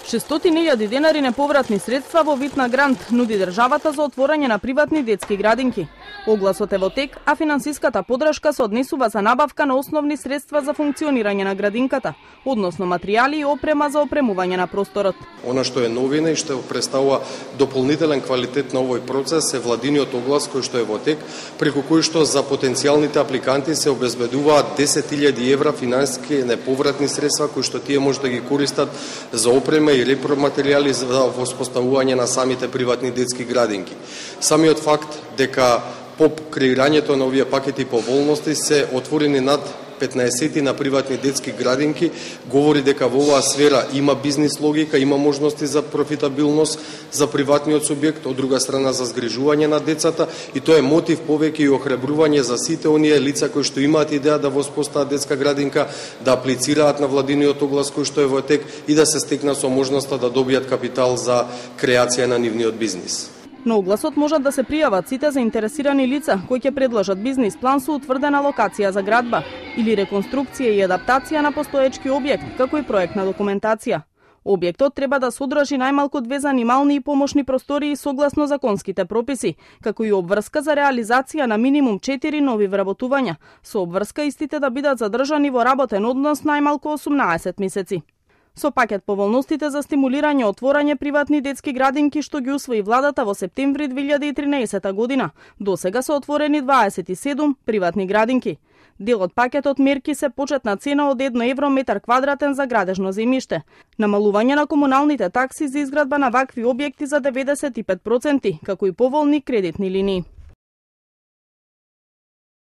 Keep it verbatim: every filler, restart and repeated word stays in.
шестстотини илјади денари неповратни средства во вид на грант нуди државата за отворање на приватни детски градинки. Огласот е во тек, а финансиската поддршка се однесува за набавка на основни средства за функционирање на градинката, односно материјали и опрема за опремување на просторот. Она што е новина и што представува дополнителен квалитет на овој процес е владиниот оглас кој што е во тек, преку кој што за потенцијалните апликанти се обезбедуваат десет илјади евра финансиски неповратни средства кои што тие може да ги користат за опрема и репроматеријали за воспоставување на самите приватни детски градинки. Самиот факт дека по креирањето на овие пакети поволности се отворени над петнаесет на приватни детски градинки, говори дека во оваа сфера има бизнис логика, има можности за профитабилност за приватниот субјект, од друга страна за згрижување на децата, и тоа е мотив повеќе и охрабрување за сите оние лица кои што имаат идеја да воспостават детска градинка, да аплицираат на владиниот оглас кој што е во тек и да се стекнат со можноста да добијат капитал за креација на нивниот бизнис. На огласот можат да се пријават сите заинтересирани лица кои ќе предложат бизнис план со утврдена локација за градба или реконструкција и адаптација на постоечки објект, како и проектна документација. Објектот треба да содржи најмалку две занимални и помошни простории согласно законските прописи, како и обврска за реализација на минимум четири нови вработувања, со обврска истите да бидат задржани во работен однос најмалку осумнаесет месеци. Со пакет поволностите за стимулирање отворање приватни детски градинки што ги усвои владата во септември две илјади и тринаесета година, досега се отворени дваесет и седум приватни градинки. Дел од пакетот мерки се почетна цена од едно евро метар квадратен за градежно земјиште, намалување на комуналните такси за изградба на вакви објекти за деветдесет и пет проценти, како и поволни кредитни линии.